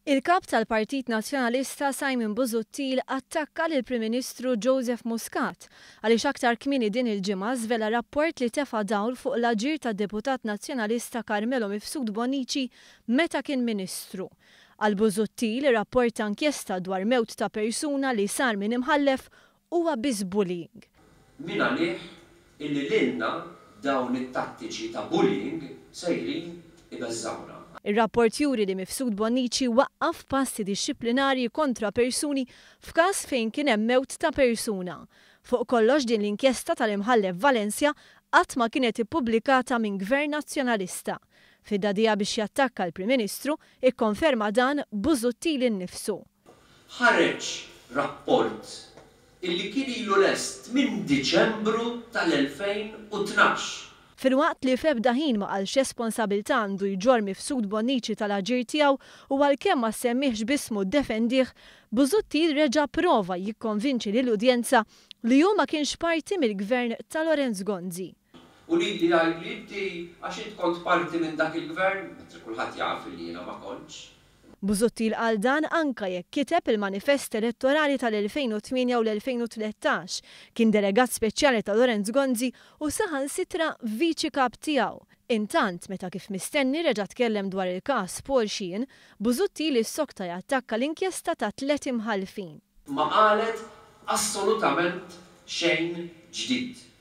Il-Kap tal-Partit Nazzjonalista Simon Busuttil attakka lill-Prim Ministru Joseph Muscat għaliex aktar kmieni din il-ġimgħa żvela rapport li tefa' dawl fuq l-aġir tad-Deputat Nazzjonalista Carmelo Mifsud Bonnici meta kien Ministru. Għal Busuttil, rapport ta' inkjesta dwar mewt ta' persuna li sar minn imħallef huwa biss bullying. Min għalih illi lilna dawn it-tattiċi ta' bullying sejrin ibeżżgħuna. Ir-rapport juri li Mifsud Bonnici waqqaf passi dixxiplinarji kontra persuni f'każ fejn kien hemm mewt ta' persuna. Fuq kollox din l-inkjesta tal-Imħallef Valencia qatt ma kienet ippubblikata minn Gvern Nazzjonalista. Fid-dagħdigħa biex jattakka l-Prim Ministru, ikkonferma dan Busuttil innifsu. Ħareġ rapport illi kien ilu lest minn Diċembru tal-2012. Filwaqt li f'ebda ħin ma qal x'responsabilità għandu jġorr Mifsud Bonnici tal-aġir tiegħu u għalkemm ma semmihx b'ismu ddefendih, Busuttil reġa' pprova jikkonvinċi lill-udjenza li hu ma kienx parti mill-Gvern ta' Lawrence Gonzi. U lili jgħidli inti għax int kont parti minn dak il-Gvern, mentre kulħadd jaf illi jiena ma kontx. Busuttil qal dan anke jekk kiteb il-manifest elettorali tal-2008 u l-2013, kien delegat speċjali ta' Lawrence Gonzi u saħansitra viċi kap tiegħu. Intant, meta kif mistenni reġa' tkellem dwar il-każ Paul Sheehan, Busuttil issokta jattakka l-inkjesta ta' tliet imħallfin. Ma qalet assolutament xejn ġdid.